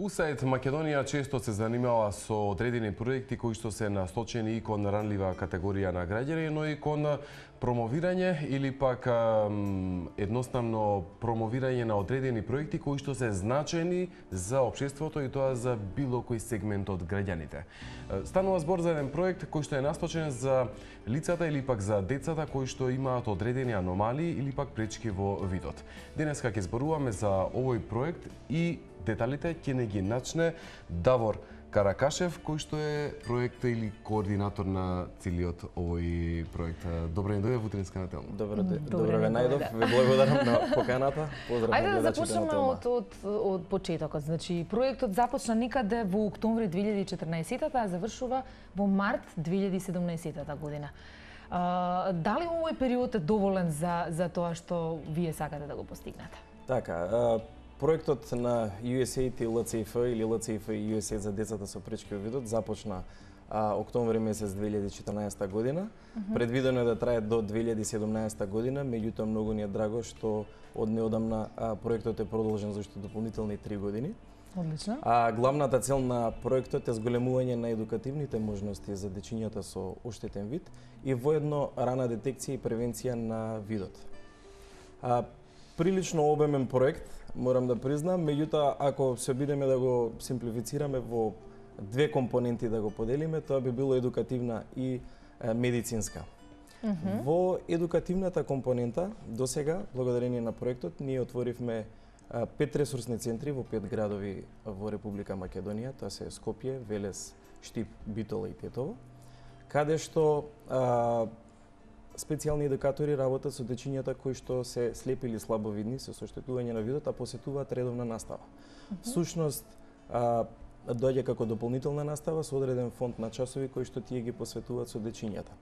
УСАИД Македонија често се занимава со одредени проекти кои што се насочени и кон ранлива категорија на граѓани, но и кон промовирање или пак едноставно промовирање на одредени проекти кои што се значени за општеството и тоа за било кој сегмент од граѓаните. Станува збор за еден проект кој што е насочен за лицата или пак за децата кои што имаат одредени аномалии или пак пречки во видот. Денеска ќе зборуваме за овој проект и деталите ќе не ги начне Давор Каракашев, кој што е проект или координатор на целиот овој проект. Добро ден, дојде во Утринска на тело. Добро ве најдов, ве благодарам на поканата. Поздрав на гледачите. Ајде да започнеме од почетокот. Значи, проектот започна некаде во октомври 2014-та, а завршува во март 2017 година. Дали овој период е доволен за тоа што вие сакате да го постигнете? Така, проектот на USAID и ЛЦФ или ЛЦФ и USAID за децата со пречки во видот започна октомври месец 2014 година. Предвидено е да трае до 2017 година, меѓутоа многу ни е драго што од неодамна проектот е продолжен за уште дополнителни 3 години. Одлично. Главната цел на проектот е зголемување на едукативните можности за дечињата со оштетен вид и воедно рана детекција и превенција на видот. Прилично обемен проект, морам да признам, меѓутоа ако се обидеме да го симплифицираме во две компоненти да го поделиме, тоа би било едукативна и медицинска. Во едукативната компонента, досега, благодарение на проектот, ние отворивме 5 ресурсни центри во 5 градови во Република Македонија, тоа се Скопје, Велес, Штип, Битола и Тетово, каде што специјални едукатори работат со дечињата кои што се слепи или слабовидни со оштетување на видот, а посетуваат редовна настава. Всушност, доаѓа како дополнителна настава со одреден фонд на часови кои што тие ги посветуваат со дечињата.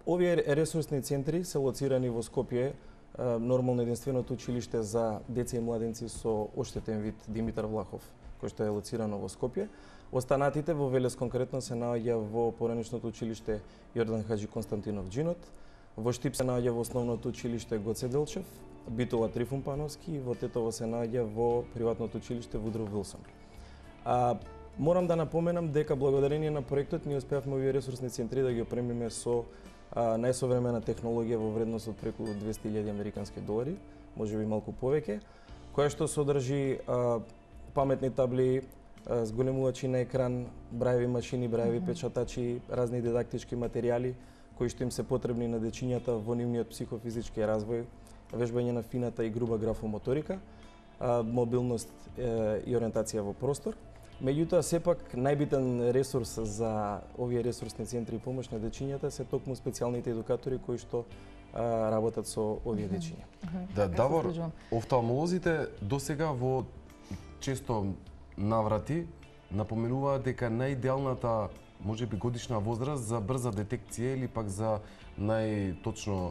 Овие ресурсни центри се лоцирани во Скопје, нормално единственото училиште за деца и младенци со оштетен вид Димитар Влахов, кој што е лоцирано во Скопје. Останатите во Велес конкретно се наоѓа во пораничното училиште Јордан Хаџи Константинов Џинот, во Штип се наоѓа во основното училиште Гоце Делчев, Битола Трифун Пановски и во Тетово се наоѓа во приватното училиште Вудро Вилсон. Морам да напоменам дека благодарение на проектот ние успеавме овие ресурсни центри да ги опремиме со најсовремена технологија во вредност од преку 200.000 американски долари, можеби малку повеќе, која што содржи паметни табли, зголемувачи на екран, брајеви машини, брајеви печатачи, разни дидактички материјали кои што им се потребни на дечињата во нивниот психофизички развој, вежбање на фината и груба графомоторика, мобилност и ориентација во простор. Меѓутоа, сепак, најбитен ресурс за овие ресурсни центри и помош на дечињата се токму специјалните едукатори кои што работат со овие дечиња. Да, Давор, офталмолозите досега во често наврати напоменуваат дека најидеалната можеби годишна возраст за брза детекција или пак за најточно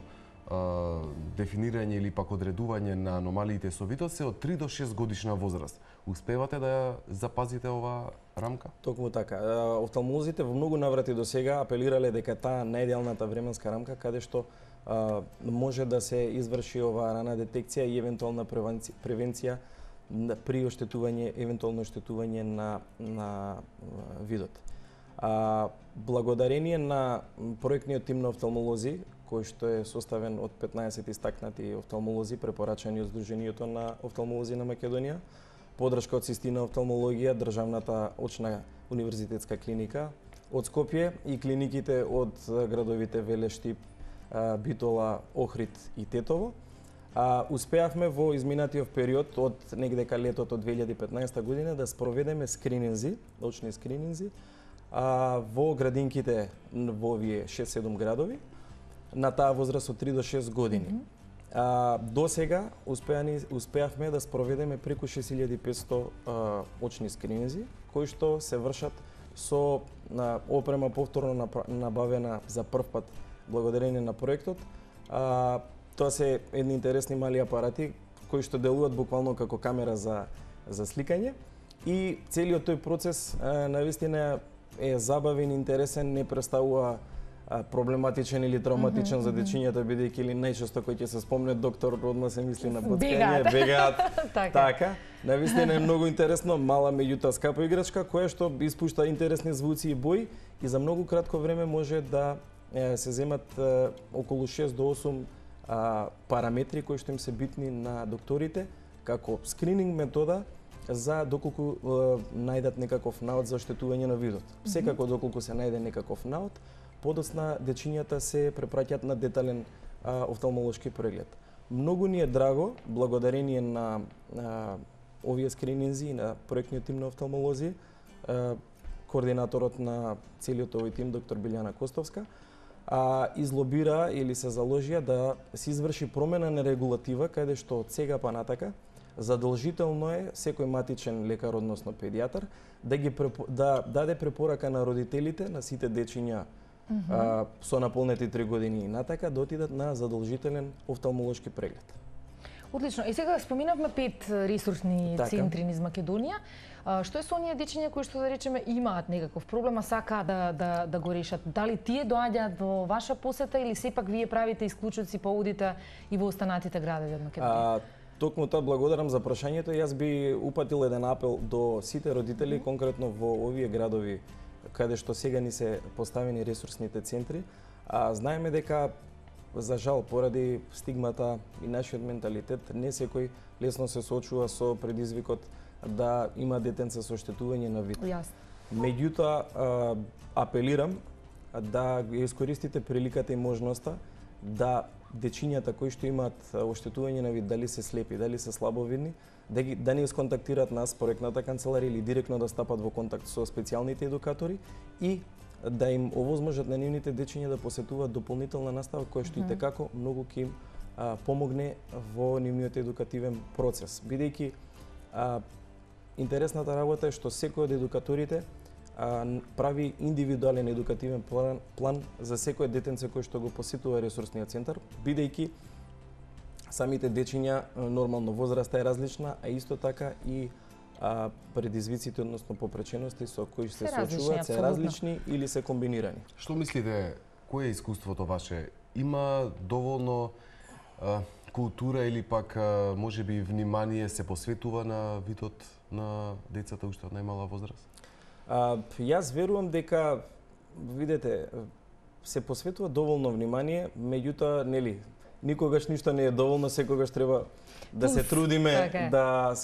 дефинирање или пак одредување на аномалиите со видот се од 3 до 6 годишна возраст. Успевате да ја запазите оваа рамка? Токму така. Офталмолозите во многу наврати до сега апелирале дека таа најидеалната временска рамка каде што може да се изврши оваа рана детекција и евентуална превенција при оштетување, евентуално оштетување на видот. Благодарение на проектниот тим на офталмолози, кој што е составен од 15 истакнати офталмолози препорачани од Сдруженијето на офталмолози на Македонија, подршка од Систина офталмологија, државната очна универзитетска клиника од Скопје и клиниките од градовите Велес, Штип, Битола, Охрид и Тетово. Успеавме во изминатиот период од негде летото 2015 година да спроведеме скрининзи, очни скрининзи, во градинките во овие 6-7 градови на таа возраст од 3 до 6 години. До сега успеавме да спроведеме преку 6500 очни скрининзи, кои што се вршат со опрема повторно набавена за прв пат благодарение на проектот. Тоа се едни интересни мали апарати кои што делуваат буквално како камера за сликање и целиот тој процес навистина е забавен, интересен, не представува проблематичен или травматичен за дечињата, бидејќи или најчесто кој ќе се спомне доктор, одма се мисли на боцкање, бегаат. Така. Навистина е многу интересно, мала меѓутоа скапа играчка, која што испушта интересни звуци и бои и за многу кратко време може да се земат околу 6 до 8 параметри кои што им се битни на докторите, како скрининг метода за доколку најдат некаков наод за оштетување на видот. Секако доколку се најде некаков наод, подоцна дечињата се препраќаат на детален офталмолошки преглед. Многу ни е драго, благодарение на овие скрининзи и на проектниот тим на офталмолози, координаторот на целиот овој тим, доктор Билјана Костовска, излобира или се заложија да се изврши промена на регулатива, каде што од сега па натака задолжително е секој матичен лекар, односно педијатар, да даде препорака на родителите на сите дечиња со наполнети 3 години и натака да отидат на задолжителен офталмолошки преглед. Одлично. И сега споминавме 5 ресурсни центри низ Македонија. Што е со оние дечиња кои што да речеме имаат некаков проблем, а сакаат да го решат? Дали тие доаѓаат во ваша посета или сепак вие правите исклучоци, поводите и во останатите градови од Македонија? Токму тоа благодарам за прашањето. Јас би упатил еден апел до сите родители, конкретно во овие градови каде што сега ни се поставени ресурсните центри. Знаеме дека за жал поради стигмата и нашиот менталитет не секој лесно се соочува со предизвикот да има детенца со оштетување на вид. Меѓутоа апелирам да ја искористите приликата и можноста да дечињата кои што имаат оштетување на вид, дали се слепи, дали се слабовидни, да ни сконтактираат нас, проектната канцеларија, или директно да стапат во контакт со специјалните едукатори и да им овозможат на нивните дечиња да посетуваат дополнителна настава која што и текако многу ќе им помогне во нивниот едукативен процес. Бидејќи интересната работа е што секој од едукаторите прави индивидуален едукативен план за секој детенце кој што го посетува ресурсниот центар, бидејќи самите дечиња нормално возраста е различна, а исто така и предизвиците, односно попречености со кои се соочуваат се различни или се комбинирани. Што мислите, кое е искуството ваше? Има доволно култура или пак можеби внимание се посветува на видот на децата уште од најмала возраст? Јас верувам дека, видете, се посветува доволно внимание, меѓутоа, нели, никогаш ништо не е доволно, секогаш треба да се трудиме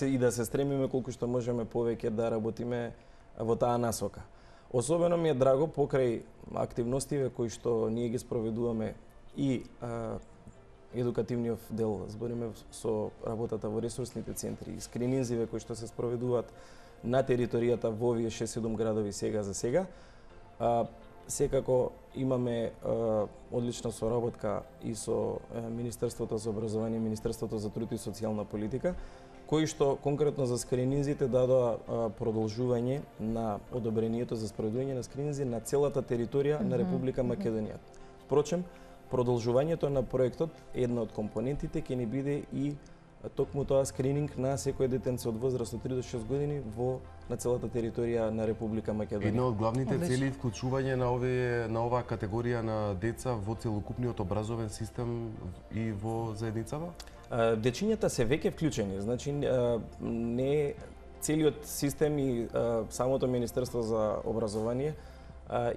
и да се стремиме колку што можеме повеќе да работиме во таа насока. Особено ми е драго покрај активностиве кои што ние ги спроведуваме и едукативниот дел, збориме со работата во ресурсните центри и скрининзиве кои што се спроведуваат на територијата во овие 6-7 градови сега за сега. Секако имаме одлична соработка и со Министерството за образование, Министерството за труд и социјална политика, кои што конкретно за скрининзите дадоа продолжување на одобрението за спроведување на скрининзи на целата територија на Република Македонија. Впрочем, продолжувањето на проектот, една од компонентите ќе ни биде и токму тоа скрининг на секој детенце од возраст од 3 до 6 години на целата територија на Република Македонија. Една од главните цели е вклучување на оваа категорија на деца во целокупниот образовен систем и во заедницава? Дечињата се веќе вклучени, значи не целиот систем и самото Министерство за образование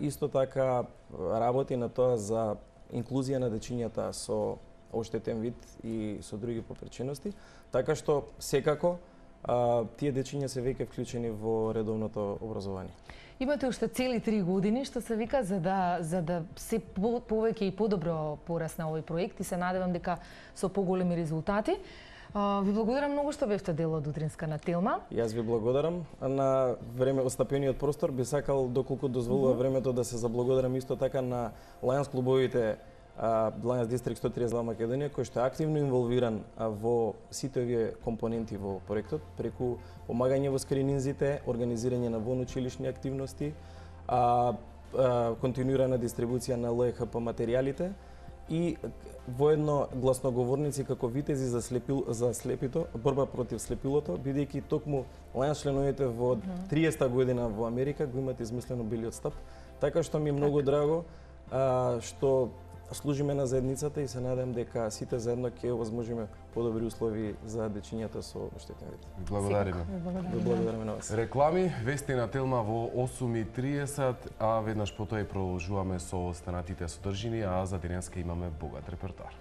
исто така работи на тоа за инклузија на дечињата со оштетен вид и со други попречености, така што секако тие дечиња се веќе вклучени во редовното образование. Имате уште цели 3 години, што се вика, за да се повеќе и подобро порасне овој проект и се надевам дека со поголеми резултати. Ви благодарам многу што бевте дел од утринска на Телма. Јас ви благодарам на време остапениот простор. Би сакал доколку дозволува времето да се заблагодарам исто така на Лајонс клубовите Лајонс Дистрикт 132 Македонија, кој што е активно инволвиран во сите овие компоненти во проектот, преку помагање во скрининзите, организирање на вонучилишни активности, континуирана дистрибуција на ЛХП материјалите и воедно гласноговорници како витези за слепито, борба против слепилото, бидејќи токму Лајонс членовите во 30-та година во Америка го имат измислено белиот стап, така што ми е многу драго што служиме на заедницата и се надам дека сите заедно ќе овозможиме подобри услови за дечињата со оштетен вид. Благодариме. Ви благодариме на вас. Реклами, вести на Телма во 8:30, а веднаш потоа и продолжуваме со останатите содржини, а за денеска имаме богат репертоар.